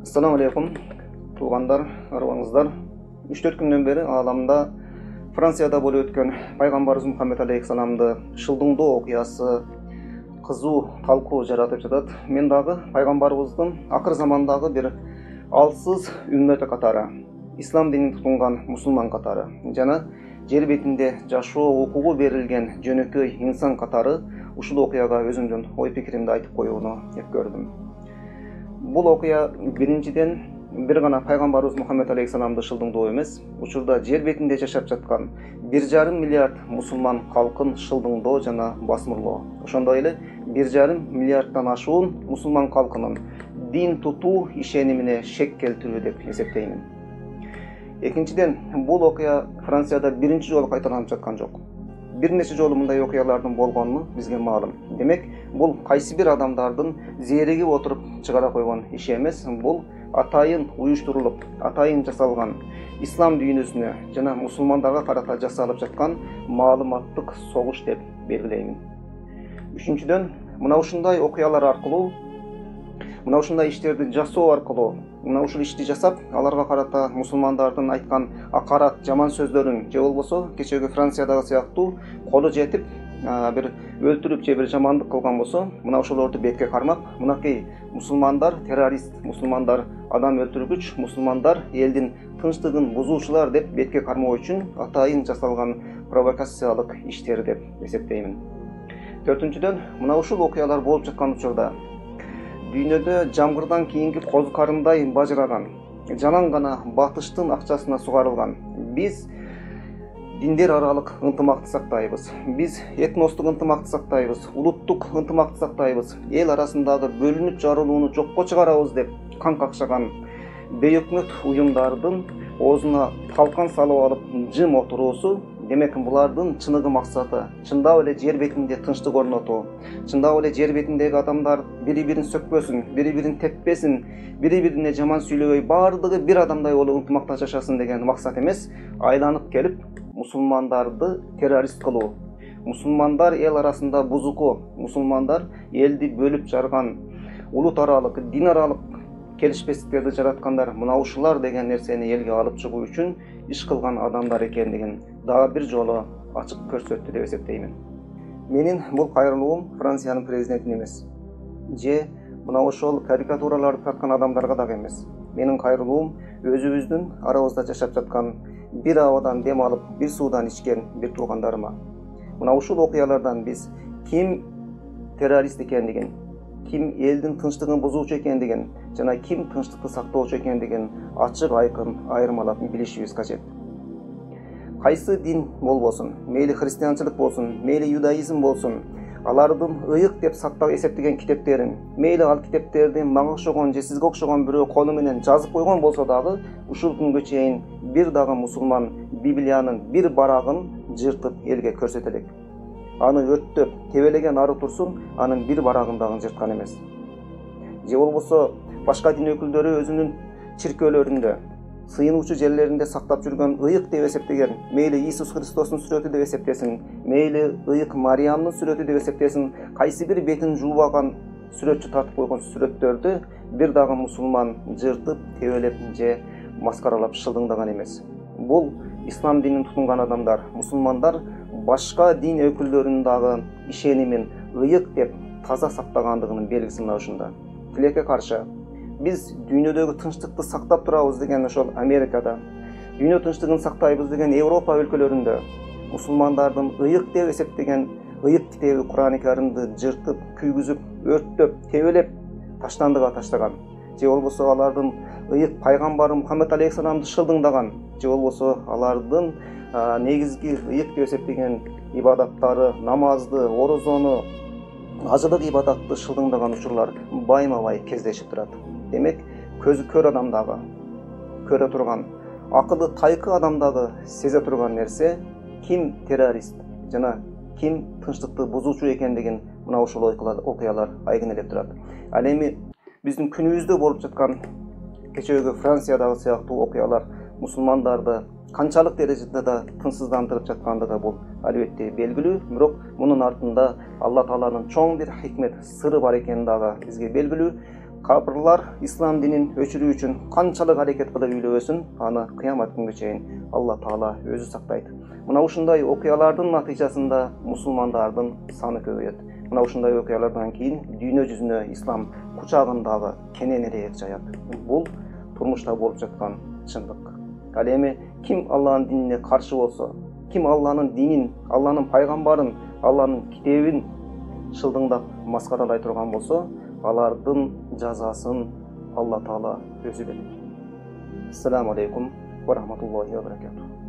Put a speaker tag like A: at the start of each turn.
A: Assalamu alaikum, туугандар, арыбаңыздар. 3-4 күндөн бери ааламда Францияда болуп өткөн пайгамбарыбыз Мухаммед алейхиссаламды шылдыңдоо окуясы кызуу талкуу жаратып жатат. Мен дагы пайгамбарыбыздын акыр замандагы бир алсыз үммөтү катары, ислам динин тутунган мусулман катары жана жер бетинде жашоо укугу берилген жөнөкөй инсан катары ушул окуяга өзүмдүн ой пикиримди айтып коюуну өткөрдүм. Бул окуя биринчиден бир гана пайгамбарыбыз Мухаммед алейхиссаламды шылдыңдоо эмес, учурда жер бетинде жашап жаткан 1,5 миллиард мусулман калкын шылдыңдоо жана басмырлоо. Ошондой эле 1,5 миллиарддан ашуун мусулман калкынын дин тутуу ишенимине шек келтирүү деп эсептеймин. Экинчиден, бул окуя Францияда биринчи жолу кайталанып жаткан жок. Бир нече жолу мындай окуялардын болгону бизге маалым. Демек, бул кайсы бир адамдардын зеригип отуруп чыгара койгон иши эмес, бул атайын уюштурулуп, атайын жасалган ислам дүйнөсүнө жана мусулмандарга карата жасалып жаткан маалыматтык согуш деп белгилеймин. Үчүнчүдөн, мына ушундай окуялар аркылуу, мына ушундай иштерди жасоо аркылуу, мына ушул ишти жасап, аларга карата мусулмандардын айткан акарат, жаман сөздөрүн же болбосо кечеги Франциядагы сыяктуу колу жетип бир өлтүрүп же бир жамандык кылган болсо, мына ошолорду бетке кармап, мынакей мусулмандар террорист, мусулмандар адам өлтүргүч, мусулмандар элдин тынчтыгын бузуучулар деп бетке кармоо үчүн атайын жасалган провокациялык иштер деп эсептеймин. Төртүнчүдөн, мына ушул окуялар болуп жаткан учурда дүйнөдө жамгырдан кийинки коз карындай бажыраган, жалаң гана батыштын акчасына сугарылган биз диндер аралык ынтымакты сактайбыз, биз этностук ынтымакты сактайбыз, улуттук ынтымакты сактайбыз, эл арасындагы бөлүнүп жарылууну жокко чыгарабыз деп кан какшаган бейөкмөт уюмдардын оозуна талкан салып алып жым отуруусу, демек булардын чыныгы максаты чындап эле жер бетинде тынчтык орнотуу, чындап эле жер бетиндеги адамдар бири-бирин сөкпөсүн, бири-бирин теппесин, бири-бирине жаман сүйлөбөй, баардыгы бир адамдай болуп ынтымакта жашасын деген максат эмес, айланып келип мусулмандарды террорист кылуу, мусулмандар эл арасында бузуку, мусулмандар элди бөлүп жарган, улут аралык, дин аралык келишпестиктерди жараткандар мына ушулар деген нерсени элге алып чыгуу үчүн иш кылган адамдар экендигин дагы бир жолу ачык көрсөттү деп эсептеймин. Менин бул кайрылуум Франциянын президентине эмес, же мына ошол карикатураларды тарткан адамдарга дагы эмес. Менин кайрылуум өзүбүздүн арабызда жашап жаткан бир абадан дем алып, бир суудан ичкен бир туугандарыма. Мына ушул окуялардан биз ким террорист экендигин, ким элдин тынчтыгын бузуучу экендигин жана ким тынчтыкты сактоочу экендигин ачык айкын айырмалап билишибиз кажет. Кайсы дин болбосун, мейли христианчылык болсун, мейли юдаизм болсун, алардын ыйык деп сактап эсептеген китептерин, мейли ал китептерди мага окшогон же сизге окшогон бирөө колу менен жазып койгон болсо дагы, ушул күнгө чейин бир дагы мусулман Библиянын бир барагын жыртып элге көрсөтө элек. Аны өрттөп, тебелеген ары турсун, анын бир барагын дагы жырткан эмес. Же болбосо башка дин өкүлдөрү өзүнүн чиркөөлөрүндө, сыйынуучу жерлеринде сактап жүргөн ыйык деп эсептеген, мейли Иисус Христостун сүрөтү деп эсептесин, мейли ыйык Мариямдын сүрөтү деп эсептесин, кайсы бир бетин жуубаган сүрөтчү тартып койгон сүрөттөрдү бир дагы мусулман жыртып, тебелеп же маскаралап шылдыңдаган эмес. Бул ислам динин тутунган адамдар, мусулмандар башка дин өкүлдөрүнүн дагы ишенимин ыйык деп таза сактагандыгынын белгиси мына ушунда. Тилекке каршы биз дүйнөдөгү тынчтыкты сактап турабыз деген ошол Америкада, дүйнө тынчтыгын сактайбыз деген Европа өлкөлөрүндө мусулмандардын ыйык деп эсептеген ыйык китеби Кур'ан-ы Каримди жыртып, күйгүзүп, өрттөп, тебелеп таштандыга таштаган, же болбосо алардын ыйык пайгамбары Мухаммед алейхиссаламды шылдыңдаган, же болбосо алардын негизги ыйык деп эсептеген ибадаттары, намазды, орозону, ажылык ибадатты шылдыңдаган учурлар байма-бай кездешип турат. Демек, көзү көр адамдагы көрө турган, акылы тайкы адамдагы сезе турган нерсе ким террорист жана ким тынчтыкты бузуучу экендигин мына ушул окуялар айгинелеп турат. Ал эми биздин күнүбүздө болуп жаткан кечеги Франциядагы сыяктуу окуялар мусулмандарды канчалык дережеде да тынчсыздандырып жаткандыгы бул албетте белгилүү, бирок мунун артында Алла Тааланын чоң бир хикмет, сыры бар экени дагы бизге белгилүү. капырлар ислам динин өчүрүү үчүн канчалык аракет кылып үйлөбөсүн, аны кыямат күнгө чейин Алла Таала өзү сактайт. Мына ушундай окуялардын натыйжасында мусулмандардын саны көбөйөт. Мына ушундай окуялардан кийин дүйнө жүзүнө ислам кучагындагы кененирээк жаят. Бул турмушта болуп жаткан чындык. Ал эми ким Алланын динине каршы болсо, ким Алланын динин, Алланын пайгамбарын, Алланын китебин шылдыңдап маскаралай турган болсо, алардын жазасын Алла Таала өзү берет. Ассаламу алейкум ва рахматуллахи ва баракатух.